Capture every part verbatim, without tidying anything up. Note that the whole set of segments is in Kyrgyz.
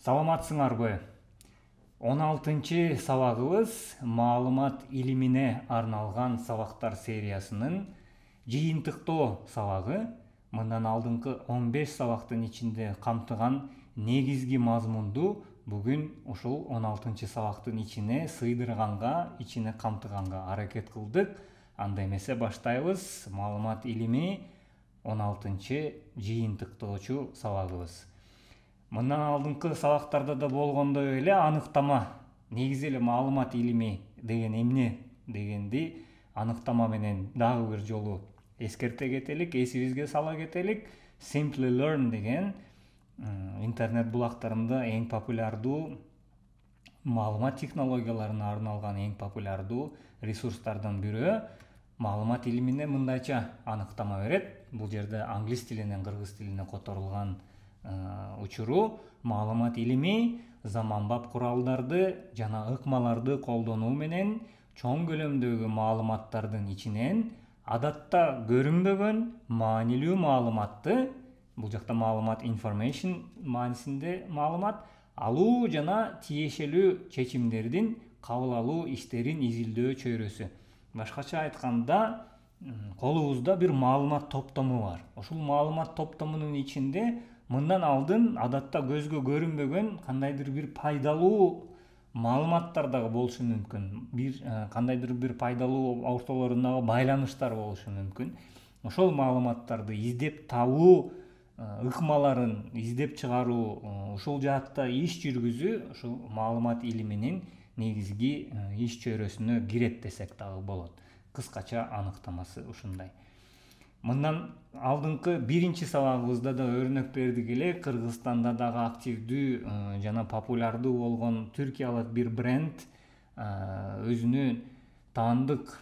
Саламатсыңарбы? он алтынчы сабагыбыз маалымат илимине арналган сабактар сериясынын жыйынтыктоо сабагы. Мындан алдыңкы он беш сабактын ичинде камтыган негизги мазмунду бүгүн ушул он алтынчы сабактын ичине сыйдырганга, ичине камтыганга аракет кылдык. Анда эмесе баштайбыз. Маалымат илими он алтынчы жыйынтыктоочу сабагыбыз. Мындан алдыңкы сабактарда да болгондой эле аныктама, негизи эле маалымат илими деген эмне дегенди аныктама менен дагы бир жолу эскерте кетелик, эсибизге сала кетелик. Simply Learn деген интернет булактарында эң популярдуу маалымат технологияларына арналган эң популярдуу ресурстардан бирөө маалымат илимине мындайча аныктама берет. Бул жерде англис тилинен кыргыз тилине которулган учуру маалымат илими заманбап куралдарды жана ыкмаларды колдонуу менен чоң көлөмдөгү маалыматтардын ичинен адатта көрүнбөгөн маанилүү маалыматты, бул жакта маалымат information маанисинде маалымат алуу жана тиешелүү чечимдердин кабыл алуу иштерин изилдөө чөйрөсү. Башкача айтканда, колубузда бир маалымат топтому бар. Ушул маалымат топтомунун ичинде мындан алдын адатта көзгө көрүнбөгөн кандайдыр бир пайдалуу маалыматтар дагы болушу мүмкүн. Бир кандайдыр бир пайдалуу ортолорундагы байланыштар болушу мүмкүн. Ошол маалыматтарды издеп табуу ыкмаларын издеп чыгаруу, ушул жаатта иш жүргүзүү ушул маалымат илиминин негизги иш чөйрөсүнө кирет десек дагы болот. Кыскача аныктамасы ушундай. Мындан алдыңкы биринчи сабагыбызда да өрнөк бердик эле. Кыргызстанда дагы активдүү жана популярдуу болгон түркиялык бир бренд өзүнүн таандык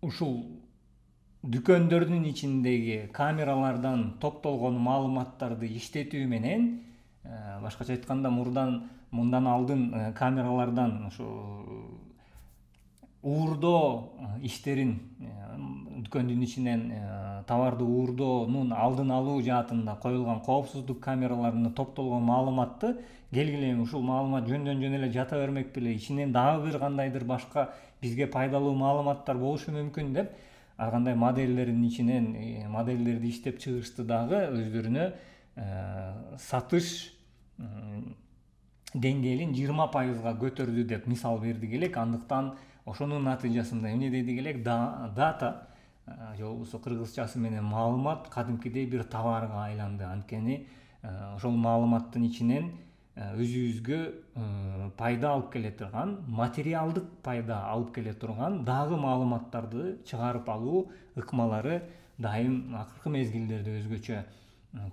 ушул дүкөндөрдүн ичиндеги камералардан топтолгон маалыматтарды иштетүү менен, башкача айтканда, мурдан мындан алдын камералардан ушу уурдоо иштерин, дүкөндүн ичинен товарды уурдоонун алдын алуу жаатында коюлган коопсуздук камераларына топтолгон маалыматты келгиле ушул маалымат жөндөн жөн эле жата бермек беле, ичинен дагы бир кандайдыр башка бизге пайдалуу маалыматтар болушу мүмкүн деп, ар кандай модельдердин ичинен модельдерди иштеп чыгышты дагы өздөрүнө сатыш деңгээлин жыйырма пайызга көтөрдү деп мисал бердик элек. Андыктан ошонун натыйжасында эмне дедик элек, дата же болбосо кыргызчасы менен маалымат кадимкидей бир товарга айланды. Анткени ошол маалыматтын ичинен өзүбүзгө пайда алып келе турган, материалдык пайда алып келе турган дагы маалыматтарды чыгарып алуу ыкмалары дайым акыркы мезгилдерде өзгөчө.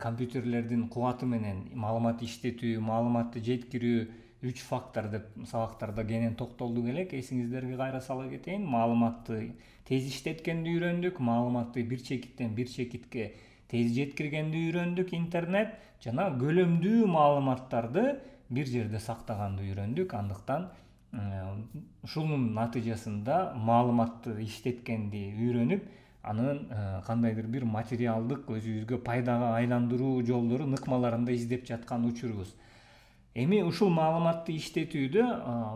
Компьютерлердин кубаты менен маалымат иштетүү, маалыматты жеткирүү үч фактор деп сабактарда кенен токтолдук элек. Эсиңиздерге кайра сала кетейин. Маалыматты тез иштеткенди үйрөндүк, маалыматты бир чекиттен бир чекитке тез жеткиргенди үйрөндүк, интернет жана көлөмдүү маалыматтарды бир жерде сактаганды үйрөндүк. Андыктан ушунун натыйжасында маалыматты иштеткенди үйрөнүп, анын кандайдыр бир материалдык өзүбүзгө пайдага айландыруу жолдорун, ыкмаларында издеп жаткан учурубуз. Эми ушул маалыматты иштетүүдө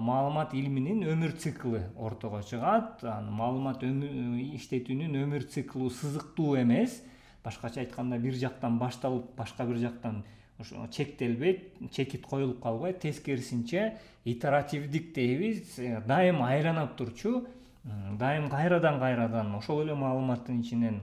маалымат илиминин өмүр циклы ортого чыгат. Маалымат иштетүүнүн өмүр циклу сызыктуу эмес. Башкача айтканда, бир жактан башталып, башка бир жактан чектелбейт, чекит коюлуп калбайт. Тескерисинче итеративдик дейбиз, дайым айланып турчу, дайым кайрадан кайрадан ошол эле маалыматтын ичинен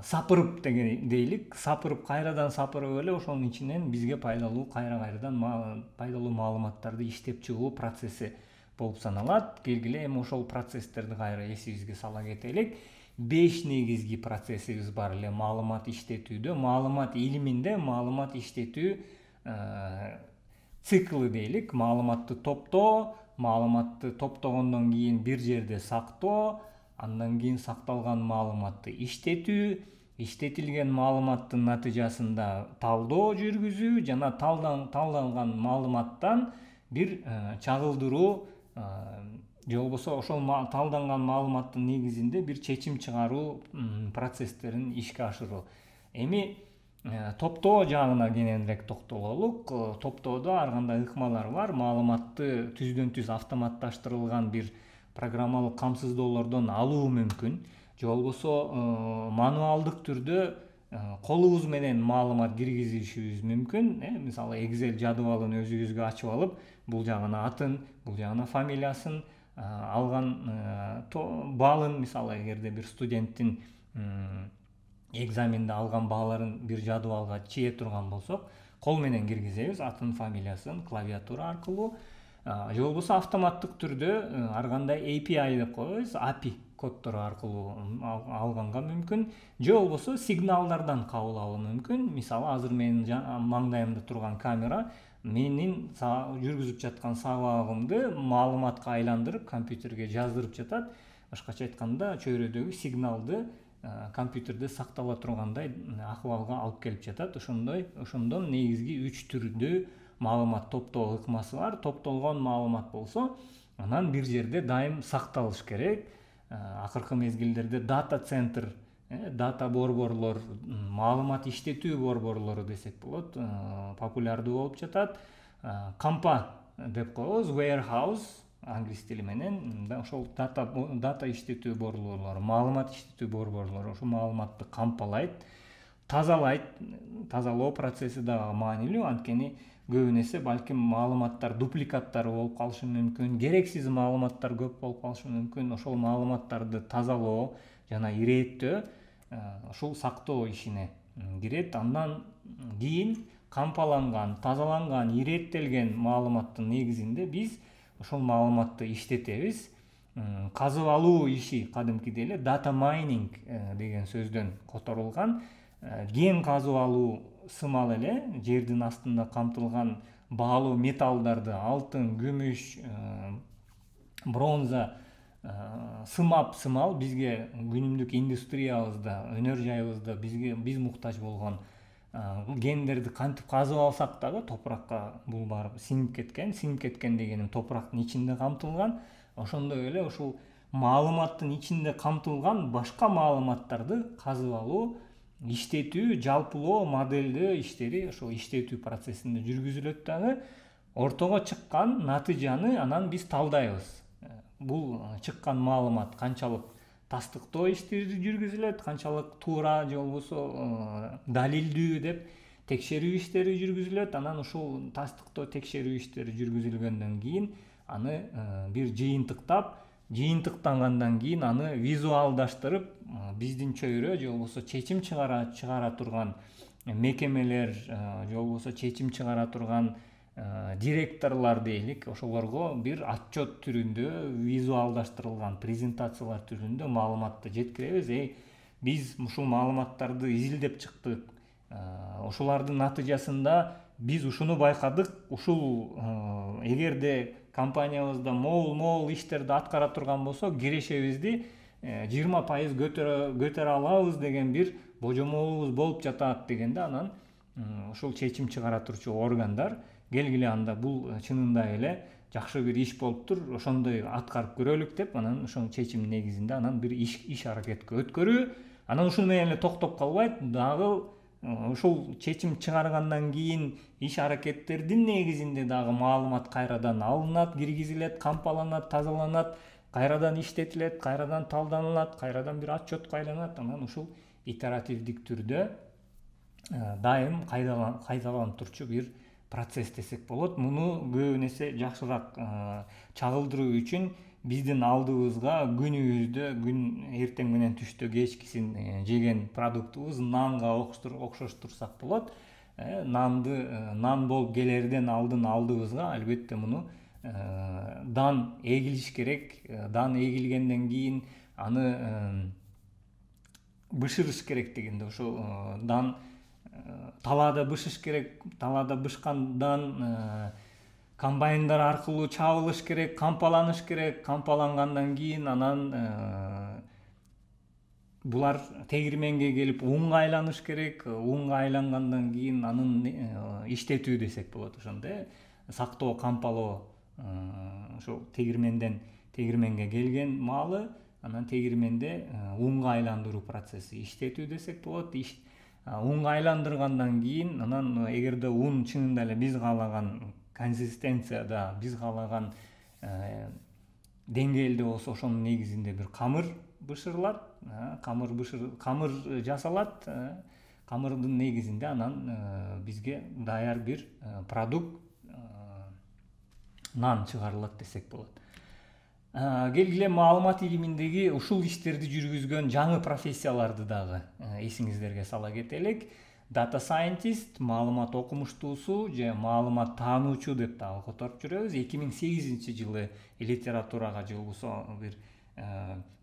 сапырып деген дейлик, сапырып кайрадан сапырып эле ошонун ичинен бизге пайдалуу кайра-кайрадан пайдалуу маалыматтарды иштеп чыгуу процесси болуп саналат. Келгиле эми ошол процесстерди кайра эсибизге сала кетелик. Беш негизги процессибиз бар эле маалымат иштетүүдө. Маалымат илиминде маалымат иштетүү циклы дейлик. Маалыматты топтоо, маалыматты топтогондон кийин бир жерде сактоо, андан кийин сакталган маалыматты иштетүү, иштетилген маалыматтын натыйжасында талдоо жүргүзүү жана талданган маалыматтан бир чагылдыруу же болбосо ошол талданган маалыматтын негизинде бир чечим чыгаруу процесстерин ишке ашыруу. Эми Топтоо жагына кененирээк токтололук. Топтоодо ар кандай ыкмалар бар. Маалыматты түздөн түз автоматташтырылган бир программалык камсыздоолордон алуу мүмкүн. Же болбосо мануалдык түрдө колубуз менен маалымат киргизишибиз мүмкүн. Мисалы Excel жадыбалын өзүбүзгө ачып алып, бул жагына атын, бул жагына фамилиясын, алган балын, мисалы эгерде бир студенттин экзаменде алган бааларын бир жадыбалга чие турган болсок, кол менен киргизебиз атын, фамилиясын клавиатура аркылуу. Же болбосо автоматтык түрдө ар кандай A P I деп коебуз, A P I коддору аркылуу алганга мүмкүн. Же болбосо сигналдардан кабыл алуу мүмкүн. Мисалы азыр менин маңдайымда турган камера менин жүргүзүп жаткан сабагымды маалыматка айландырып компьютерге жаздырып жатат. Башкача айтканда, чөйрөдөгү сигналды компьютерде сактала тургандай акыбалга алып келип жатат. Ошондой, ошондон негизги үч түрдүү маалымат топтоо ыкмасы бар. Топтолгон маалымат болсо, анан бир жерде дайым сакталыш керек. Акыркы мезгилдерде дата центр, дата борборлор, маалымат иштетүү борборлору десек болот, популярдуу болуп жатат. Кампа деп коебуз, warehouse англис тили менен. Ошол дата дата иштетүү борборлору, маалымат иштетүү борборлору ошол маалыматты кампалайт, тазалайт. Тазалоо процесси дагы маанилүү, анткени көбүн эсе балким маалыматтар дупликаттары болуп калышы мүмкүн, керексиз маалыматтар көп болуп калышы мүмкүн. Ошол маалыматтарды тазалоо жана ирээттөө ушул сактоо ишине кирет. Андан кийин кампаланган, тазаланган, ирээттелген маалыматтын негизинде биз ошол маалыматты иштетебиз. Казып алуу иши кадимкидей эле data mining деген сөздөн которулган. Кен казып алуу сымал эле жердин астында камтылган баалуу металлдарды, алтын, күмүш, бронза сымап сымал бизге күнүмдүк индустриябызда, өнөр жайыбызда бизге биз муктаж болгон кендерди кантип казып алсак дагы топуракка бул барып сиңип кеткен. Сиңип кеткен дегеним топурактын ичинде камтылган. Ошондой эле ушул маалыматтын ичинде камтылган башка маалыматтарды казып алуу, иштетүү, жалпылоо, моделдөө иштери ошол иштетүү процессинде жүргүзүлөт дагы. Ортого чыккан натыйжаны анан биз талдайбыз. Бул чыккан маалымат канчалык тастыктоо иштери жүргүзүлөт, канчалык туура же болбосо далилдүү деп текшерүү иштери жүргүзүлөт. Анан ушул тастыктоо, текшерүү иштери жүргүзүлгөндөн кийин аны бир жыйынтыктап, жыйынтыктангандан кийин аны визуалдаштырып, биздин чөйрө же болбосо чечим чыгара чыгара турган мекемелер же болбосо чечим чыгара турган директорлор дейлик, ошолорго бир отчет түрүндө, визуалдаштырылган презентациялар түрүндө маалыматты жеткиребиз. Эй, биз ушул маалыматтарды изилдеп чыктык. Ошолордун натыйжасында биз ушуну байкадык. Ушул эгерде компаниябызда могул-могул иштерди аткара турган болсок, кирешебизди жыйырма пайыз көтөрө алабыз деген бир божомолубуз болуп жатат дегенде, анан ушул чечим чыгара турчу органдар келгиле, анда бул чынында эле жакшы бир иш болуптур, ошондой аткарып көрөлүк деп, анан ошол чечим негизинде анан бир иш иш аракетке өткөрүү. Анан ушуну менен эле токтоп калбайт, дагы ушул чечим чыгаргандан кийин иш аракеттердин негизинде дагы маалымат кайрадан алынат, киргизилет, кампаланат, тазаланат, кайрадан иштетилет, кайрадан талданылат, кайрадан бир отчетко айланат. Анан ушул итеративдик түрдө дайым кайталанып турчу бир процесс десек болот. Муну көбүн эсе жакшыраак чагылдыруу үчүн биздин алдыбызга күнүбүздө, күн эртең менен түштө кечкисин жеген продуктубуз нанга окшоштурсак болот. Нанды нан болуп келерден алдын алдыбызга албетте муну дан эгилиш керек. Дан эгилгенден кийин аны бышырыш керек дегенде, ошо дан талаада бышыш керек. Талаада бышкандан комбайндар аркылуу чабылыш керек, кампаланыш керек. Кампалангандан кийин анан булар тегирменге келип унга айланыш керек. Унга айлангандан кийин анын иштетүү десек болот. Ошондой сактоо, кампалоо, ошол тегирменден тегирменге келген маалы анан тегирменде унга айландыруу процесси иштетүү десек болот. унга айландыргандан кийин анан эгерде ун чынында эле биз каалаган консистенцияда, биз каалаган деңгээлде болсо, ошонун негизинде бир камыр бышырылат, камыр бышыр камыр жасалат. Камырдын негизинде анан бизге даяр бир продукт, нан чыгарылат десек болот. Келгиле маалымат илиминдеги ушул иштерди жүргүзгөн жаңы профессияларды дагы эсиңиздерге сала кетелик. Data scientist, маалымат окумуштуусу же маалымат таануучу деп дагы которуп жүрөбүз. эки миң сегизинчи жылы литературага же болбосо бир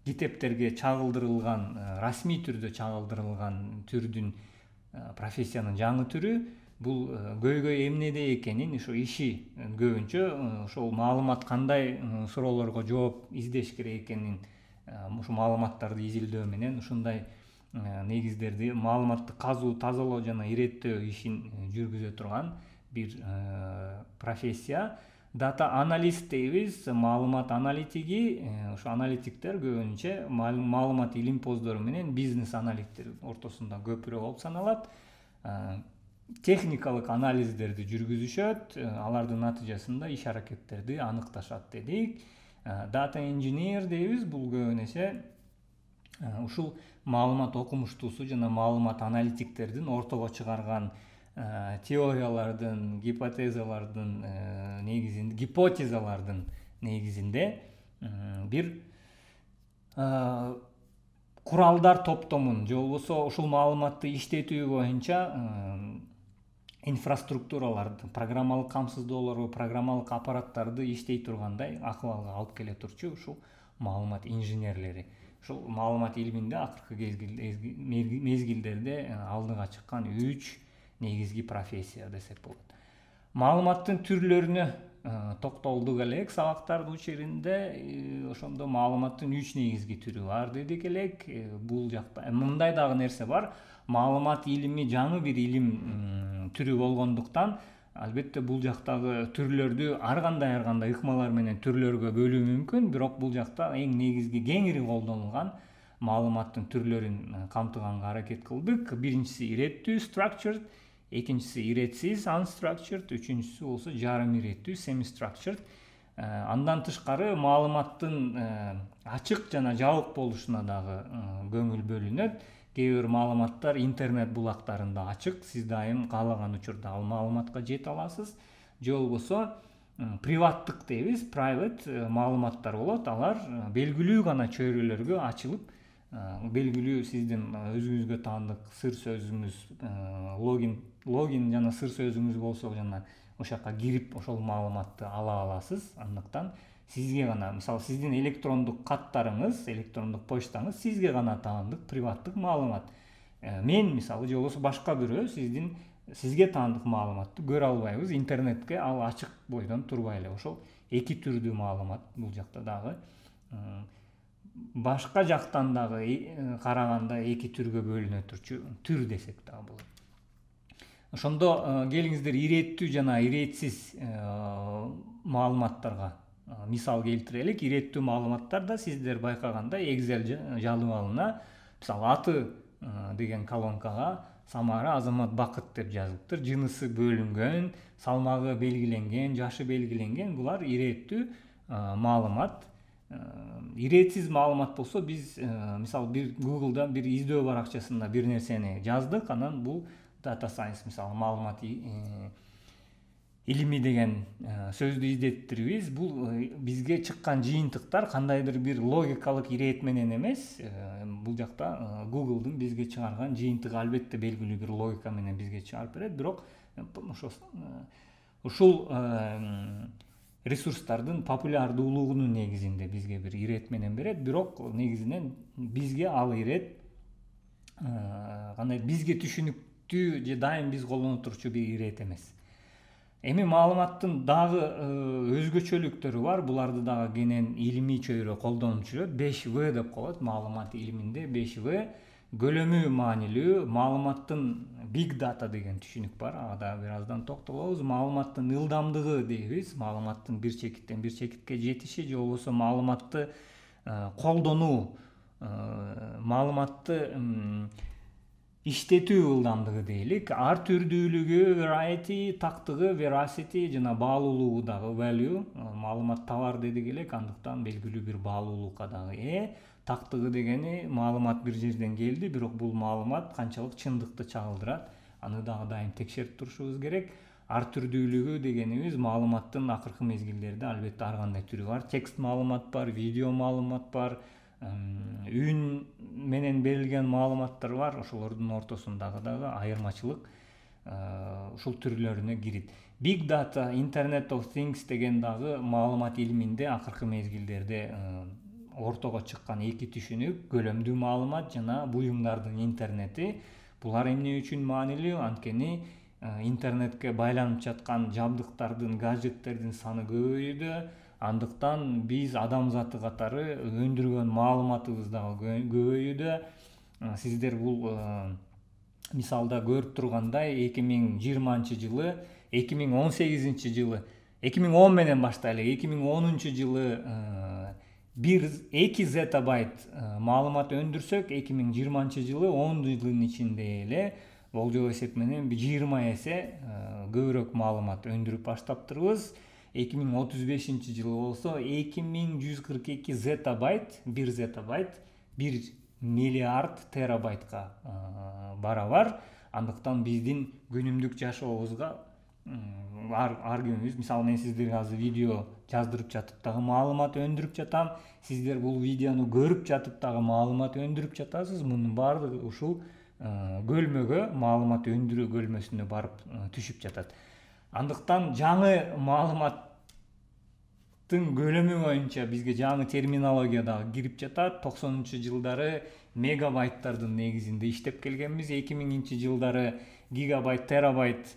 китептерге чагылдырылган, расмий түрдө чагылдырылган түрдүн профессиянын жаңы түрү бул көйгөй эмнеде экенин, ошо иши көбүнчө ошол маалымат кандай суроолорго жооп издеш керек экенин, ушу маалыматтарды изилдөө менен ушундай негиздерди маалыматты казуу, тазалоо жана иреттөө ишин жүргүзө турган бир профессия. Data analyst дейбиз, маалымат аналитиги. Ошо аналитиктер көбүнчө маалымат илимпоздору менен бизнес аналитиктер ортосунда көпүрөөк болуп саналат. Техникалык анализдерди жүргүзүшөт, алардын натыйжасында иш аракеттерди аныкташат дедик. Data engineer дейбиз, бул көбүнесе ушул маалымат окумуштуусу жана маалымат аналитиктердин ортого чыгарган теориялардын, гипотезалардын негизинде, гипотезалардын негизинде бир куралдар топтомун же болбосо ушул маалыматты иштетүү боюнча инфраструктураларды, программалык камсыздоолорду, программалык аппараттарды иштей тургандай акыбалга алып келе турчу ушул маалымат инженерлери. Ушул маалымат илиминде акыркы мезгилдерде алдыга чыккан үч негизги профессия десек болот. Маалыматтын түрлөрүнө токтолдук элек сабактардын учурунда. Ошондо маалыматтын үч негизги түрү бар дедик элек. Бул жакта мындай дагы нерсе бар. Маалымат илими жаңы бир илим түрү болгондуктан, албетте бул жактагы түрлөрдү ар кандай ар кандай ыкмалар менен түрлөргө бөлүү мүмкүн, бирок бул жакта эң негизги кеңири колдонулган маалыматтын түрлөрүн камтыганга аракет кылдык. Биринчиси иреттүү, structured, экинчиси иретсиз, unstructured, үчүнчүсү болсо жарым иреттүү, semi-structured. Андан тышкары маалыматтын ачык жана жабык болушуна дагы көңүл бөлүнөт. Кээ бир маалыматтар интернет булактарында ачык, сиз дайым каалаган учурда ал маалыматка жете аласыз. Же болбосо приваттык дейбиз, private маалыматтар болот. Алар белгилүү гана чөйрөлөргө ачылып, белгилүү сиздин өзүңүзгө таандык сыр сөзүңүз, логин, логин жана сыр сөзүңүз болсо жана ошол жака кирип ошол маалыматты ала аласыз. Андыктан сизге гана, мисалы, сиздин электрондук каттарыңыз, электрондук почтаңыз сизге гана таандык приваттык маалымат. Мен, мисалы, же болбосо башка бирөө сиздин сизге таандык маалыматты көрө албайбыз. Интернетке ал ачык бойдон турбай эле. Ошол эки түрдүү маалымат бул жакта дагы. Башка жактан дагы караганда эки түргө бөлүнө турчу түр десек дагы болот. Ошондо келиңиздер иреттүү жана иретсиз маалыматтарга мисал келтирелик. Иреттүү маалыматтарда сиздер байкагандай Excel жалыбалына, мисалы, аты деген колонкага Самара Азамат Бакыт деп жазылыптыр. Жынысы бөлүнгөн, салмагы белгиленген, жашы белгиленген. Булар иреттүү маалымат. Иретсиз маалымат болсо, биз мисалы бир Google'да бир издөө баракчасында бир нерсени жаздык, анан бул data science, мисалы, маалымат илими деген сөздү издеттирбиз. Бул бизге чыккан жыйынтыктар кандайдыр бир логикалык ирэет менен эмес. Бул жакта Google'дун бизге чыгарган жыйынтыгы албетте белгилүү бир логика менен бизге чыгарып берет, бирок ушул ресурстардын популярдуулугунун негизинде бизге бир ирэет менен берет, бирок негизинен бизге ал ирэет кандай бизге түшүнүктүү же дайым биз колдоно турчу бир ирэет эмес. Эми маалыматтын дагы өзгөчөлүктөрү бар. Буларды дагы кенен илимий чөйрө колдонуп жүрөт. беш вэ деп коет маалымат илиминде. беш вэ көлөмү маанилүү. Маалыматтын big data деген түшүнүк бар. Ага да бир аздан токтолобуз. Маалыматтын ылдамдыгы дейбиз. Маалыматтын бир чекиттен бир чекитке жетиши же болбосо маалыматты колдонуу, маалыматты иштетүү ылдамдыгы дейлик, ар түрдүүлүгү, variety, тактыгы, veracity жана баалуулугу дагы value, маалымат товар дедик элек, андыктан белгилүү бир баалуулукка дагы ээ. Тактыгы дегени маалымат бир жерден келди, бирок бул маалымат канчалык чындыкты чагылдырат, аны дагы дайым текшерип турушубуз керек. Ар түрдүүлүгү дегенибиз маалыматтын акыркы мезгилдерде албетте ар кандай түрү бар. Текст маалымат бар, видео маалымат бар, үн менен берилген маалыматтар бар. Ошолордун ортосундагы дагы айырмачылык ушул түрлөрүнө кирет. Big data, Internet of Things деген дагы маалымат илиминде акыркы мезгилдерде ортого чыккан эки түшүнүк, көлөмдүү маалымат жана буюмдардын интернети. Булар эмне үчүн маанилүү? Анткени интернетке байланып жаткан жабдыктардын, гаджеттердин саны көбөйүүдө, андыктан биз адамзаты катары өндүргөн маалыматыбыз дагы көбөйүүдө. Сиздер бул мисалда көрүп тургандай эки миң жыйырманчы жылы, эки миң он сегизинчи жылы, эки миң он менен баштайлы, эки миң онунчу жылы бир эки зеттабайт маалымат өндүрсөк, эки миң жыйырманчы жылы он жылдын ичинде эле болжол эсеп менен жыйырма эсе көбүрөөк маалымат өндүрүп баштаптырбыз. эки миң отуз бешинчи жылы болсо эки миң жүз кырк эки зеттабайт, бир зеттабайт бир миллиард терабайтка барабар. Андыктан биздин күнүмдүк жашообузга ар ар күнүбүз, мисалы мен сиздерге азыр видео жаздырып жатып дагы маалымат өндүрүп жатам. Сиздер бул видеону көрүп жатып дагы маалымат өндүрүп жатасыз. Мунун баардыгы ушул көлмөгө, маалымат өндүрүү көлмөсүнө барып түшүп жатат. Андыктан жаңы маалыматтын көлөмү боюнча бизге жаңы терминология дагы кирип жатат. токсонунчу жылдары мегабайттардын негизинде иштеп келгенбиз. эки миңинчи жылдары гигабайт, терабайт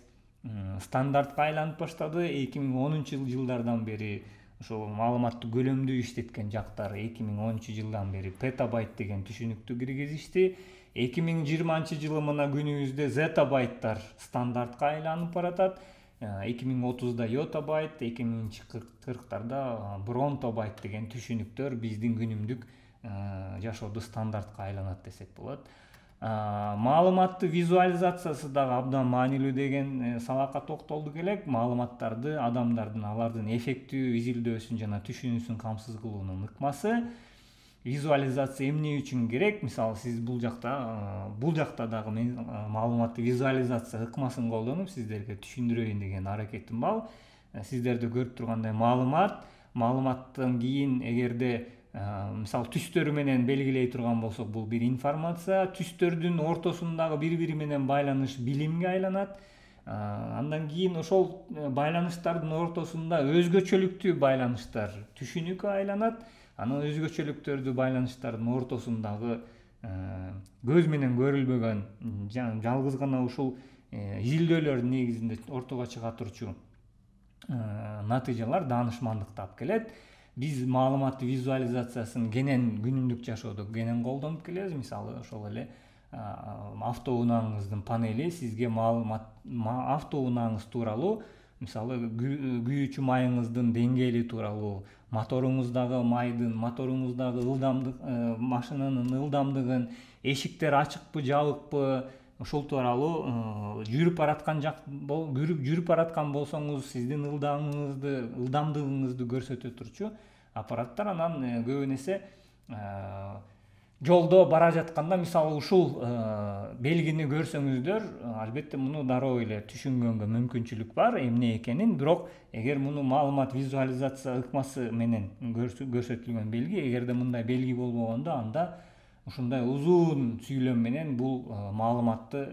стандартка айланып баштады. эки миң онунчу жылдардан бери ошол маалыматты көлөмдүү иштеткен жактары эки миң онунчу жылдан бери петабайт деген түшүнүктү киргизишти. эки миң жыйырманчы жылы мына күнүбүздө зеттабайттар стандартка айланып баратат. эки миң отузда йотабайт, эки миң кырктарда бронтобайт деген түшүнүктөр биздин күнүмдүк жашоодо стандартка айланат десек болот. Маалыматты визуализациясы дагы абдан маанилүү деген сабакка токтолдук элек. Маалыматтарды адамдардын алардын эффектүү изилдөөсүн жана түшүнүүсүн камсыз кылуунун ыкмасы. Визуализация эмне үчүн керек? Мисалы сиз бул жакта бул жакта дагы мен маалыматты визуализация ыкмасын колдонуп сиздерге түшүндүрөйүн деген аракетим бар. Сиздерде көрүп тургандай маалымат, маалыматтан кийин эгерде мисалы түстөрү менен белгилей турган болсок, бул бир информация. Түстөрдүн ортосундагы бири-бири менен байланыш билимге айланат. Андан кийин ошол байланыштардын ортосунда өзгөчөлүктүү байланыштар түшүнүккө айланат. Анан өзгөчөлүктөрдү байланыштардын ортосундагы көз менен көрүлбөгөн жалгыз гана ушул изилдөөлөрдүн негизинде ортого чыга турчу натыйжалар даанышмандыкты алып келет. Биз маалыматты визуализациясын кенен күнүмдүк жашоодо кенен колдонуп келебиз. Мисалы ошол эле автоунааңыздын панели сизге маалымат автоунааңыз тууралуу, мисалы күйүүчү майыңыздын деңгээли тууралуу, моторуңуздагы майдын, моторуңуздагы ылдамдык, машинанын ылдамдыгын, эшиктер ачыкпы, жабыкпы, ошол тууралуу жүрүп бараткан жак жүрүп бараткан болсоңуз сиздин ылдамыңызды, ылдамдыгыңызды көрсөтө турчу аппараттар. Анан көбүн эсе жолдо бара жатканда мисалы ушул белгини көрсөңүздөр, албетте муну дароо эле түшүнгөнгө мүмкүнчүлүк бар эмне экенин. Бирок эгер муну маалымат визуализация ыкмасы менен көрсөтүлгөн белги, эгерде мындай белги болбогондо, анда ушундай узун сүйлөм менен бул маалыматты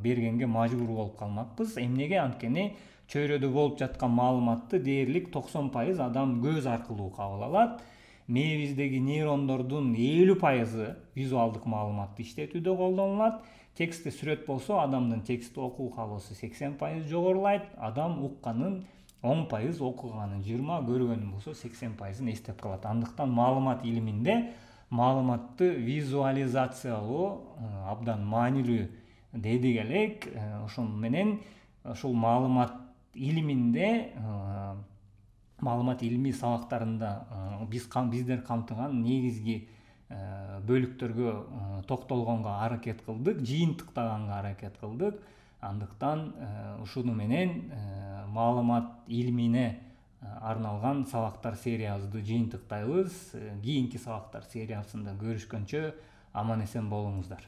бергенге мажбур болуп калмакпыз. Эмнеге? Анткени чөйрөдө болуп жаткан маалыматты дээрлик токсон пайыз адам көз аркылуу кабыл алат. Мээбиздеги нейрондордун элүү пайызы визуалдык маалыматты иштетүүдө колдонулат. Текстти сүрөт болсо, адамдын текстти окуу каалоосу сексен пайыз жогорулайт. Адам укканын он пайыз, окуганын жыйырма, көргөнүн болсо сексен пайызын эстеп калат. Андыктан маалымат илиминде маалыматты визуализациялоо абдан маанилүү дедик элек. Ошол менен ушул маалымат илиминде, маалымат илими сабактарында биз биздер камтыган негизги бөлүктөргө токтолгонго аракет кылдык, жыйынтыктаганга аракет кылдык. Андыктан ушуну менен маалымат илимине арналган сабактар сериябызды жыйынтыктайбыз. Кийинки сабактар сериясында көрүшкөнчө аман эсен болуңуздар.